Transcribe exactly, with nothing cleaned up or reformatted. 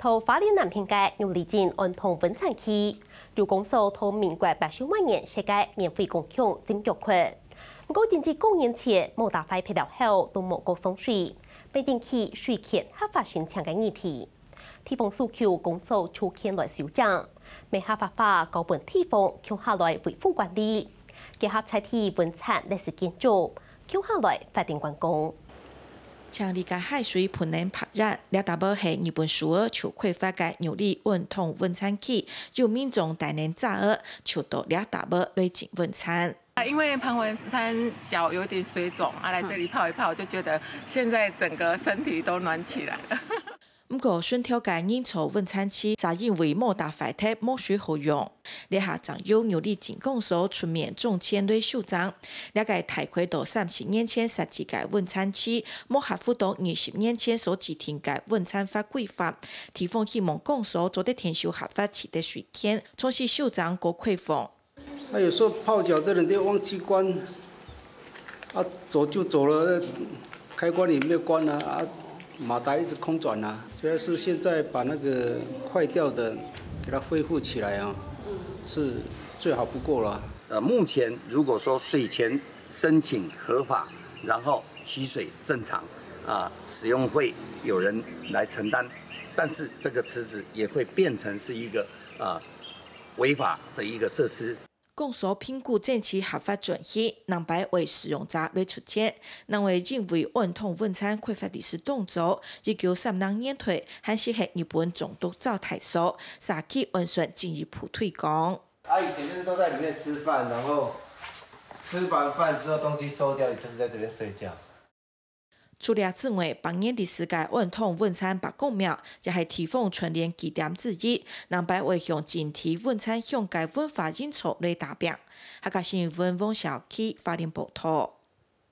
在花蓮南片个玉里鎮安通溫泉區，有公所在民國八十五年設个免費公共浸腳窟。毋過，正值過年前，摩打壞忒了後，都無過上水，變成去水坑合法申請个議題。地方訴求公所就牽來修正，乜合法化交分地方共下來維護管理，結合在地溫泉歷史建築，共下來發展觀光。 淨理解海水歕等白煙，這搭仔係日本首爾就開發个玉里安通溫泉區，有民眾帶等遮仔，就到這搭仔來浸溫泉。因為盤文山腳有點水腫，啊，來這裡泡一泡，就覺得現在整個身體都暖起來了。毋過，脣頭个仁川溫泉區，就因為摩打壞忒無水好用。 這下正由玉里鎮公所出面重建來修正。這个大概到三十年前設計个溫泉區，無合乎到二十年前所制定个溫泉法規範，地方希望公所做得𢯭手合法取得水權，重新修正過開放。那有時候泡腳的人就忘記關，啊，走就走了，開關也沒有關啊，啊，馬達一直空轉啊。主要是現在把那個壞掉的給它恢復起來啊，是最好不過了。呃，目前如果說水權申請合法，然後取水正常，啊，使用費有人來承擔，但是這個池子也會變成是一個，呃，違法的一個設施。 公所評估爭取合法轉去，南北位使用者來出錢，南北因為安通溫泉開發歷史當早，一九三零年代還係係日本總督趙泰所，社區安全進一步推廣。啊，以前就是都在裡面吃飯，然後吃完飯之後東西收掉，就是在這邊睡覺。 除了之外，百年歷史个安通溫泉伯公廟，也係地方春聯據點之一，南北會向整體溫泉鄉个文化營造來打拚。客家新聞黃小琪花蓮報導。